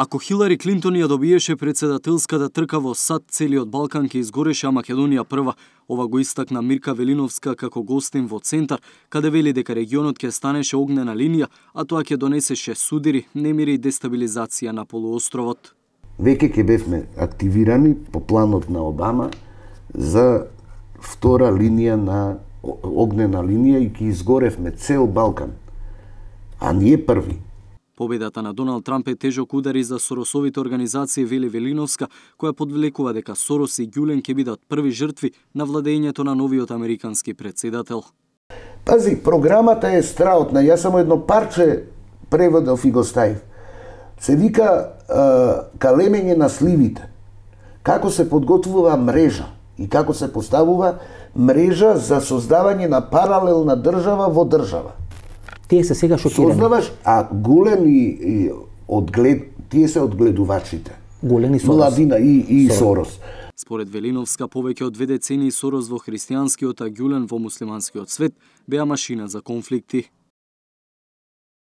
Ако Хилари Клинтон ја добиеше председателската трка во САД, целиот Балкан ќе изгореше, а Македонија прва. Ова го истакна Мирка Велиновска како гостин во Центар, каде вели дека регионот ќе станеше огнена линија, а тоа ќе донесеше судири, немири и дестабилизација на полуостровот. Веќе ќе бевме активирани по планот на Обама за втора линија на огнена линија и ќе изгоревме цел Балкан, а ние први. Победата на Доналд Трамп е тежок удар и за Соросовите организации, вели Велиновска, која подвлекува дека Сорос и Ѓулен ќе бидат први жртви на владењето на новиот американски председател. Пази, програмата е страотна. Јас само едно парче преводов и го ставив. Се вика калемење на сливите. Како се подготвува мрежа и како се поставува мрежа за создавање на паралелна држава во држава. Тие се сега шокирани. Сознаваш, а Ѓулен и тие се одгледувачите. Ѓулен и Сорос. Младина и Сорос. Според Велиновска, повеќе од 2 децении Сорос во христијанскиот, а Ѓулен во муслиманскиот свет беа машина за конфликти.